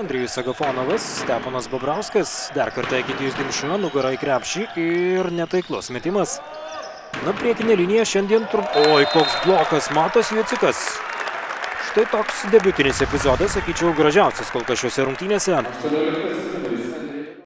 Andrijus Agafonovas, Stepanas Bobrauskas, dar kartą Egidijus Dimša, nugara į krepšį ir netaiklus metimas. Na, priekinė linija šiandien Oi, koks blokas, Matas Jucikas. Štai toks debiutinis epizodas, sakyčiau, gražiausias kol kas šiuose rungtynėse.